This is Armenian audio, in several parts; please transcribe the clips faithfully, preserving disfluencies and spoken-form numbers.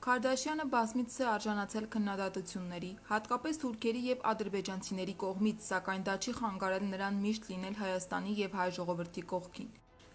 Քարդաշյանը բազմիցս է արժանացել քննադատությունների, հատկապես թուրքերի և ադրբեջանցիների կողմից, սակայն դա չի խանգարել նրան միշտ լինել Հայաստանի և հայ ժողովրդի կողքին։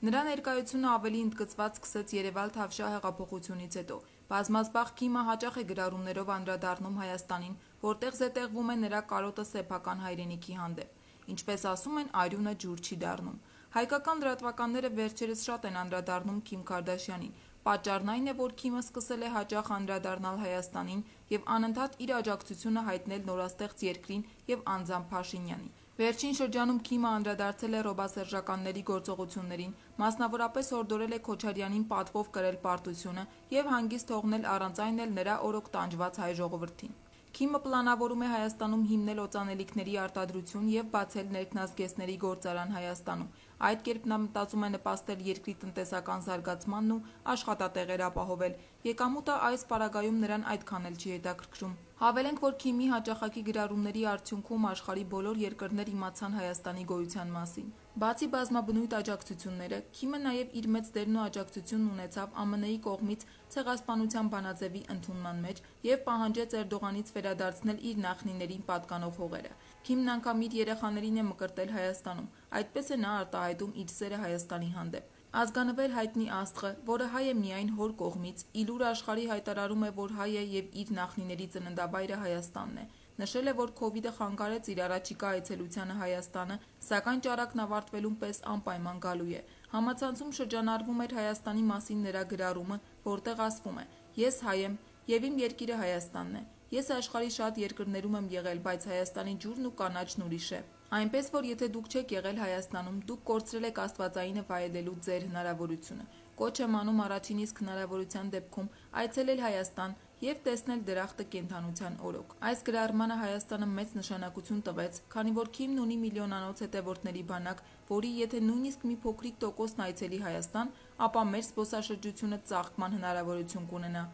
Նրա ներկայությունը ավելի ընդգծված սկսեց Երևալ Թավշյա հեղափոխությունից հետո։ Բազմազբաղ Քիմը հաճախ է գրառումներով անդրադառնում Հայաստանին, որտեղ զետեղվում է նրա կարոտը սեփական հայրենիքի հանդեպ։ Ինչպես ասում են, արյունը ջուր չի դառնում։ Հայկական լրատվականները վերջերս շատ են անդրադառնում Քիմ Քարդաշյանին։ Պատճառն այն է, որ Քիմը սկսել է հաճախ անդրադառնալ Հայաստանին և անընդհատ իր աջակցությունը հայտնել նորաստեղծ երկրին և անձամբ Փաշինյանին։ Վերջին շրջանում Քիմը անդրադարձել է ռոբասերժականների գործողություններին, մասնավորապես հորդորել է Քոչարյանին պատվով կրել պարտությունը և հանգիստ թողնել առանց այն էլ նրա օրոք տանջված հայ ժողովրդին։ Քիմը պլանավորում է Հայաստանում հիմնել օծանելիքների արտադրություն և բացել ներքնազգեստների գործարան Հայաստանում։ Այդ կերպ նա մտածում է նպաստել երկրի տնտեսական զարգացմանն ու աշխատատեղեր ապահովել։ Եկամուտը այս պարագայում նրան այդքան էլ չի հետաքրքրում։ Հավելենք, որ Քիմի հաճախակի գրառումների արդյունքում աշխարհի բոլոր երկրներ իմացան Հայաստանի գոյության մասին։ Բացի բազմաբնույթ աջակցությունները, Քիմը նաև իր մեծ դերն ու աջակցությունն ունեցավ ԱՄՆ-ի կողմից ցեղասպանության բանաձևի ընդունման մեջ և պահանջեց Էրդողանից վերադարձնել իր նախնիներին պատկանող հողերը։ Քիմն անգամ իր երեխաներին է մկրտել Հայաստանում, այդպես է նա արտահայտում իր սերը Հայաստանի հանդեպ։ Ազգանվեր հայտնի աստղը, որը հայ է միայն հոր կողմից, ի լուր աշխարհի հայտարարում է, որ հայ է և իր նախնիների ծննդավայրը Հայաստանն է։ Նշել է, որ քովիդը խանգարեց իր առաջիկա այցելությանը Հայաստանը, սակայն ճարակն ավարտվելուն պես անպայման գալու է։ Համացանցում շրջանառվում էր Հայաստանի մասին նրա գրառումը, որտեղ ասվում է. «Ես հայ եմ, և իմ երկիրը Հայաստանն է։ Ես աշխարհի շատ երկրներում եմ եղել, բայց Հայաստանի ջուրն ու կանաչն ուրիշ է։ Այնպես որ եթե դուք չեք եղել Հայաստանում, դուք կորցրել եք աստվածայինը վայելելու ձեր հնարավորությունը։ Կոչ եմ անում առաջին իսկ հնարավորության դեպքում այցելել Հայաստան և տեսնել դրախտը կենդանության օրոք»։ Այս գրառմանը Հայաստանը մեծ նշանակություն տվեց, քանի որ Քիմն ունի միլիոնանոց հետևորդների բանակ, որի եթե նույնիսկ մի փոքրիկ տոկոսն այցելի Հայաստան, ապա մեր զբոսաշրջությունը ծաղկման հնարավորություն կունենա։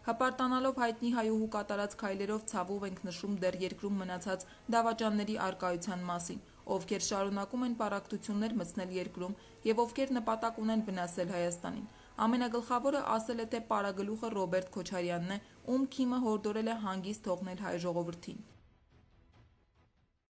Հպարտանալով հայտնի հայուհու կատարած քայլերով ցավով ենք նշում դեռ երկրում մնացած դավաճանների առկայության մասին, ովքեր շարունակում են պառակտություններ մտցնել երկրում և ովքեր նպատակ ունեն վնասել Հայաստանին։ Ամենագլխավորը ասել է թե պարագլուխը Ռոբերտ Քոչարյանն է, ում Քիմը հորդորել է հանգիստ թողնել հայ ժողովրդին։